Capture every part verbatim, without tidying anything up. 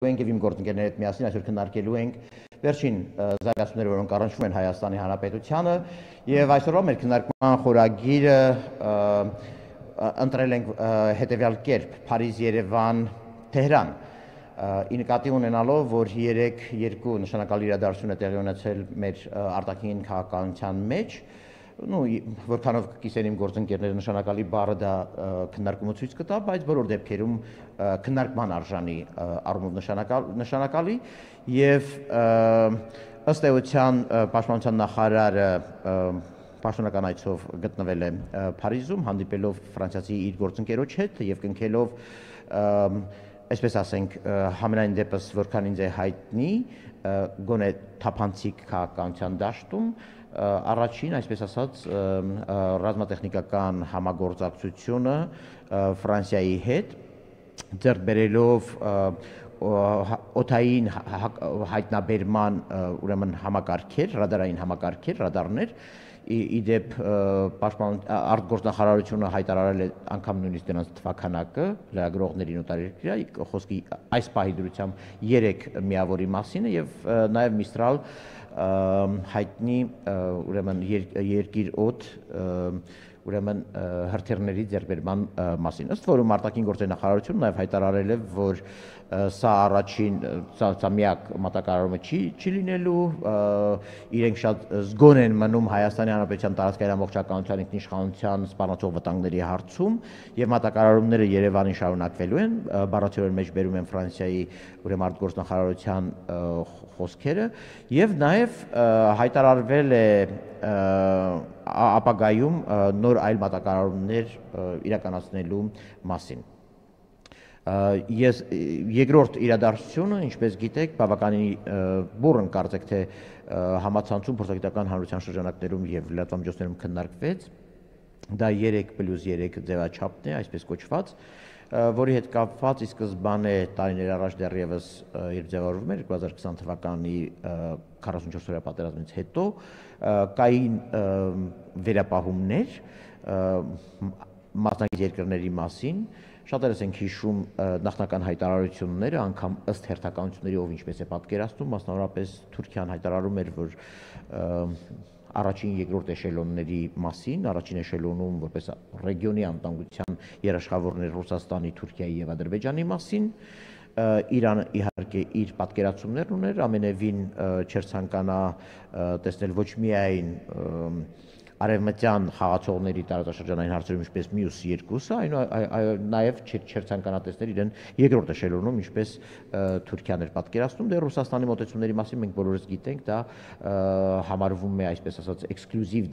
ենք եւ իմ գործընկերների հետ միասին այսօր քննարկելու ենք վերջին զարգացումները, որոնք առնչվում են Հայաստանի Հանրապետությանը եւ այսօրվա մեր քննարկման խորագիրը ընտրել ենք հետեւյալ կերպ՝ Փարիզ, Երևան, Թեհրան։ Ի նկատի ունենալով, որ երեք երկու նշանակալի իրադարձություն է տեղի ունեցել մեր արտաքին քաղաքականության մեջ, Ну, որքանով կիսեն իմ գործընկերները նշանակալի բառը դա քննարկումը ցույց կտա, բայց բոլոր դեպքերում քննարկման արժանի առումով նշանակալի եւ ըստ էության պաշտպանության նախարարը պաշտոնական այցով գտնվել է Փարիզում, հանդիպելով ֆրանսիացի իր գործընկերոջ հետ եւ կնքելով, այսպես ասենք, համենայն դեպս որքան ինձ է հայտնի, գոնե թափանցիկ քաղաքականության դաշտում առաջին, այսպես ասած, ռազմատեխնիկական համագործակցությունը Ֆրանսիայի հետ, ձեռք բերելով օդային հայտնաբերման ուրեմն համակարգեր, ռադարային համակարգեր, ռադարներ, իդեպ արտգործնախարարությունը հայտարարել է անգամ նույնիսկ դրանց թվաքանակը լրագրողներին օտարերկրյա, խոսքի այս պահի դրությամբ երեք միավորի մասին է եւ նաեւ Միստրալ հայտնի ուրեմն երկիր օդ ուրեմն հրթիռների ձեռքբերման մասին։ Ըստ որում արտաքին գործերի նախարարությունը նաև հայտարարել է, որ սա առաջին, սա միակ մատակարարումը չի չի լինելու, իրենք շատ զգոն են մնում Հայաստանի Հանրապետության տարածքային ամբողջականության ինքնիշխանության սպառնացող վտանգների հարցում եւ մատակարարումները Երևանին շարունակվելու են, բառացիորեն մեջ բերում են Ֆրանսիայի ուրեմն արտգործնախարարության խոսքերը եւ նաեւ հայտարարվել է ապագայում նոր այլ մատակարարումներ իրականացնելու մասին։ Ես երկրորդ իրադարձությունը, ինչպես գիտեք, բավականին բուռն կարծեք թե համացանցում փորձագիտական հանրության շրջանակներում եւ լրատվամիջոցներում քննարկվեց, դա երեք պլյուս երեք ձևաչափն է, այսպես կոչված, որի հետ կապված ի սկզբանե տարիներ առաջ դեռևս երբ ձևավորվում էր երկու հազար քսան թվականի քառասունչորս օրյա պատերազմից հետո կային վերապահումներ մասնակից երկրների մասին, շատերս ենք հիշում նախնական հայտարարությունները, անգամ ըստ հերթականությունների ով ինչպես է պատկերացնում, մասնավորապես Թուրքիան հայտարարում էր, որ առաջին երկրորդ էշելոնների մասին, առաջին էշելոնում որպես ռեգիոնի անվտանգության երաշխավորներ Ռուսաստանի, Թուրքիայի եւ Ադրբեջանի մասին, Իրանը իհարկե իր պատկերացումներն ուներ, ամենևին չէր ցանկանա տեսնել ոչ միայն արևմտյան խաղացողների տարածաշրջանային հարցերում ինչպես մյուս երկուսը, այլ նաև չէր ցանկանա տեսնել իրեն երկրորդ էշելոնում, ինչպես Թուրքիան էր պատկերացնում, դեռ Ռուսաստանի մոտեցումների մասին մենք բոլորս գիտենք, դա համարվում է, այսպես ասած, էքսկլյուզիվ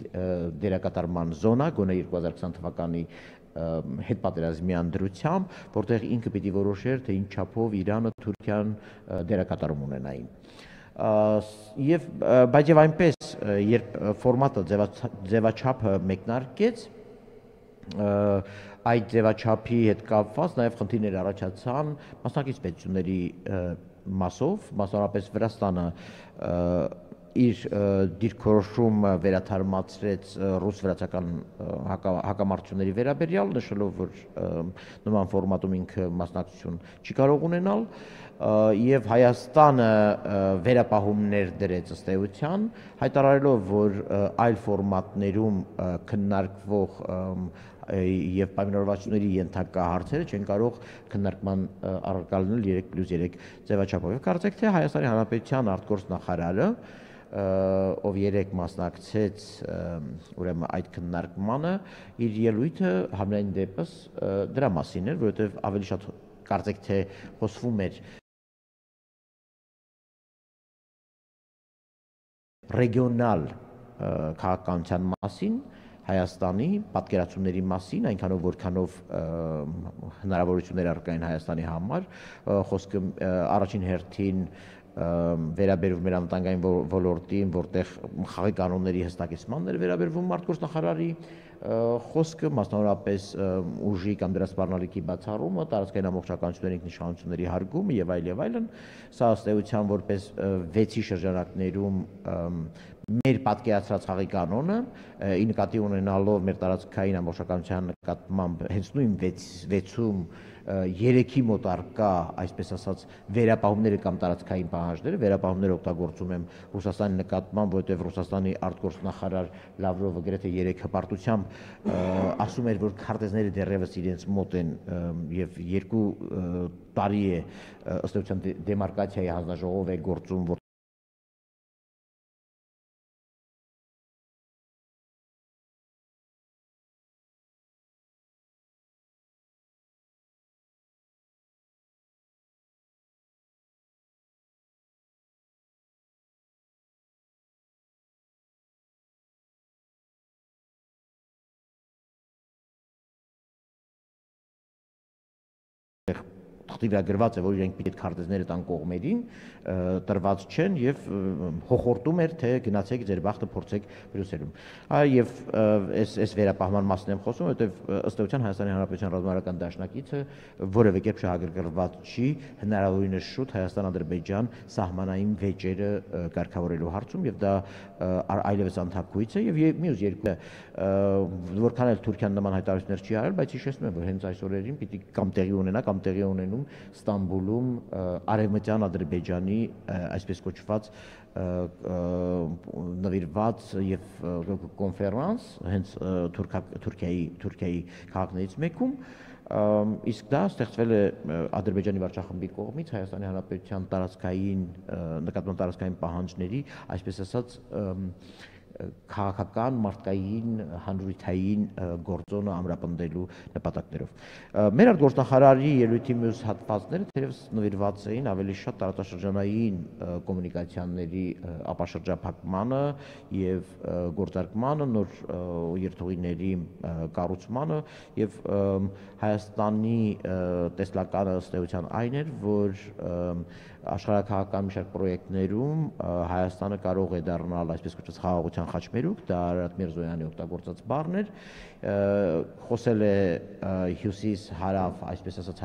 դերակատարման զոնա, գոնե երկու հազար քսան թվականի հետպատերազմյան դրությամբ, որտեղ ինքը պիտի որոշեր, թե ինչ չափով Իրանը, Թուրքիան դերակատարում ունենային։ Եվ բայց եւ այնպես, երբ ֆորմատը ձևաչափը մեկնարկեց, այդ ձևաչափի հետ կապված նաեւ խնդիրներ առաջացան մասնակից պետությունների մասով, մասնավորապես Վրաստանը իր դիրքորոշումը վերաթարմացրեց ռուս-վրացական հակամարտությունների վերաբերյալ, նշելով, որ նման ֆորմատում ինքը մասնակցություն չի կարող ունենալ, եւ Հայաստանը վերապահումներ դրեց ըստ էության, հայտարարելով, որ այլ ֆորմատներում քննարկվող եւ պայմանավորվածությունների ենթակա հարցերը չեն կարող քննարկման առարկա լինել երեք պլյուս երեք ձևաչափով։ Կարծեք թե Հայաստանի Հանրապետության արտգործնախարարը ով երեք մասնակցեց ուրեմն այդ քննարկմանը, իր ելույթը համենայն դեպս դրա մասին էր, որովհետեւ ավելի շատ կարծեք թե խոսվում էր ռեգիոնալ քաղաքականության մասին, Հայաստանի պատկերացումների մասին, այնքանով որքանով հնարավորություններ առկա են Հայաստանի համար, խոսքը առաջին հերթին վերաբերվում էր անվտանգային ոլորտին, որտեղ խաղի կանոնների հստակեցմանն էր վերաբերվում արտգործնախարարի խոսքը, մասնավորապես ուժի կամ դրա սպառնալիքի բացառումը, տարածքային ամբողջականությունների ինքնիշխանությունների հարգումը եւ այլ եւ այլն, սա ըստ էության որպես վեցի շրջանակներում մեր պատկերացրած խաղի կանոնը ի նկատի ունենալով մեր տարածքային ամբողջականության նկատմամբ հենց նույն վեցում երեքի մոտ առկա, այսպես ասած, վերապահումները կամ տարածքային պահանջները, վերապահումները օգտագործում եմ Ռուսաստանի նկատմամբ, որովհետև Ռուսաստանի արտգործնախարար Լավրովը գրեթե երեք հպարտությամբ ասում էր, որ քարտեզները դեռևս իրենց մոտ են եւ երկու տարի է ըստ էության դեմարկացիայի հանձնաժողով է գործում, թղթի վրա գրված է, որ իրենք պիտի այդ քարտեզները տան կողմերին, տրված չեն եւ հոխորտում էր, թե գնացեք ձեր բախտը փորձեք Բրյուսելում։ Եվ այս այս վերապահման մասն եմ խոսում, որովհետեւ ըստ էության Հայաստանի Հանրապետության ռազմավարական դաշնակիցը որևէ կերպ շահագրգռված չի հնարավորինս շուտ Հայաստան-Ադրբեջան սահմանային վեճերը կարգավորելու հարցում եւ դա այլևս անթափույց է եւ մյուս երկու որքան էլ Թուրքիան նման հայտարարություններ չի արել, բայց հիշեցնում եմ, որ հենց այս օրերին պիտի կամ տեղի ունենա կամ տեղի ունենում Ստամբուլում արևմտյան Ադրբեջանի այսպես կոչված նվիրված եւ կոնֆերանս հենց Թուրքիայի Թուրքիայի քաղաքներից մեկում իսկ դա ստեղծվել է Ադրբեջանի վարչախմբի կողմից Հայաստանի Հանրապետության տարածքային նկատմամբ տարածքային պահանջների, այսպես ասած, քաղաքական, մարդկային, հանրութային գործոնը ամրապնդելու նպատակներով։ Մեր արտգործնախարարի ելույթի մյուս հատվածները թերևս նվիրված էին ավելի շատ տարածաշրջանային կոմունիկացիաների ապաշրջափակմանը եւ գործարկմանը, նոր երթուղիների կառուցմանը եւ Հայաստանի տեսլականը ըստ էության այն էր, որ աշխարհաքաղաքական մի շարք պրոյեկտներում Հայաստանը կարող է դառնալ այսպես կոչված խաղաղության խաչմերուկ, դա Արարատ Միրզոյանի օգտագործած բառն էր, խոսել է հյուսիս հարավ, այսպես ասած,